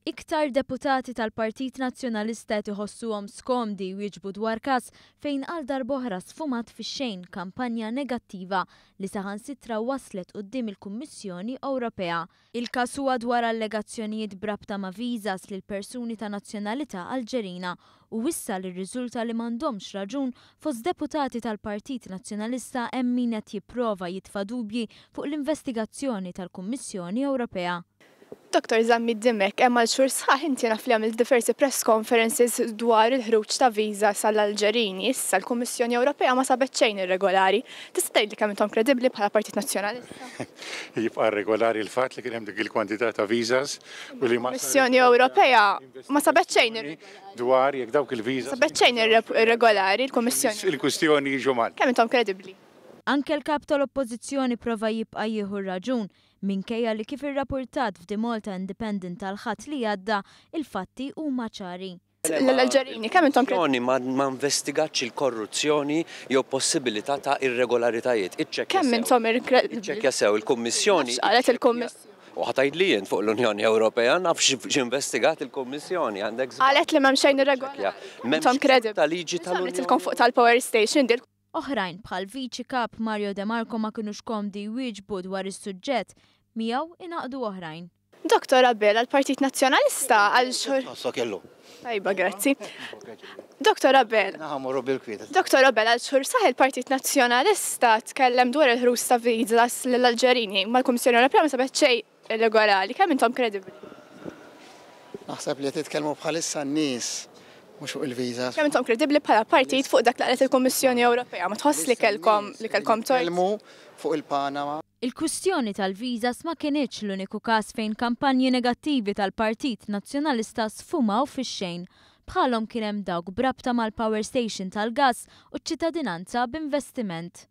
Iktar deputati tal-Partit Nazzjonalista qed iħossuhom skomdi jwieġbu dwar każ fejn għal darb'oħra sfumat fix-xejn kampanja negattiva li saħansitra waslet quddiem il-Kummissjoni Ewropea. Il-każ huwa dwar allegazzjonijiet b'rabta ma' visas lil persuni ta' nazzjonalità Alġerina u issa li rriżulta li m'għandhomx raġun fost deputati tal-Partit Nazzjonalista hemm min qed jipprova jitfa' dubji fuq l-investigazzjoni tal-Kummissjoni Ewropea. Dottor Zammit Dimech, hemm għal xhur sħaħ inti naf li għamilt diversi press conferences dwar il-ħruġ ta' visas għall-Alġerini. Issa l-Kummissjoni Ewropea ma sabet xejn irregolari. Tista' tgħidli kemm intom kredibbli bħala Partit Nazzjonalista? Jibqa' irregolari l-fatt li kien hemm dik il-kwantità ta' visas u li ma Il-Kummissjoni Ewropea ma sabet xejn irregolari. Dwar jekk dawk il-visas. Ma sabet xejn irregolari l-Kummissjoni. Il-kwistjoni jiġu mal. Kemm intom kredibbli? Anke l-Kap tal-Oppożizzjoni prova jibqa' jieħu r-raġun Minkejja li kif irrapurtat f'The Malta Independent tal-Ħadd li għadda, il-fatti huma ċari. L-Alġerini, kemm intom Il-Kummissjoni ma investigatx il-korruzzjoni jew possibilità ta' irregolaritajiet. Iċċekkja Kemm sew. intom irkredibbli? Iċċekkja sew, il-Kummissjoni. X'qalet il-Kummissjoni? U ħa tgħidli int fuq l-Unjoni Ewropea naf x'investigat il-Kummissjoni, għandek żball. Qalet li m'hemm xejn irregolari. M'hemmx Intom kredibbli? ta' liġi tal-Unjoni. Għamlitilkom fuq tal-power station dil Oħrajn, bħal Viċi Kap Mario De Marco ma kinux komdi jwieġbu dwar is-suġġett. Miegħu ingħaqdu oħrajn. Dottor Abela, l-Partit Nazzjonalista għal xhur. Tħossok illum. Tajba, grazzi. Dottor Abela. Naħa morru bil-kwiet. Dottor Abela, għal xhur sħaħ il-Partit Nazzjonalista tkellem dwar il-ħruġ ta' visas lill-Alġerini, imma l-Kummissjoni Ewropea ma sabet xejn Irregolari, kemm intom kredibbli? Naħseb li qed jitkellmu bħalissa n-nies mhux fuq il-visas. Kemm intom kredibbli bħala partit fuq dak li qalet il-Kummissjoni Ewropea? Ma tħoss li kellkom li kellkom tort? Tkellmu fuq il-Panama. Il-kwistjoni tal-visas ma kinitx l-uniku każ fejn kampanji negattivi tal-Partit Nazzjonalista sfumaw fix-xejn. Bħalhom kien hemm dawk b'rabta mal-power station tal-gass u ċ-ċittadinanza b'investiment.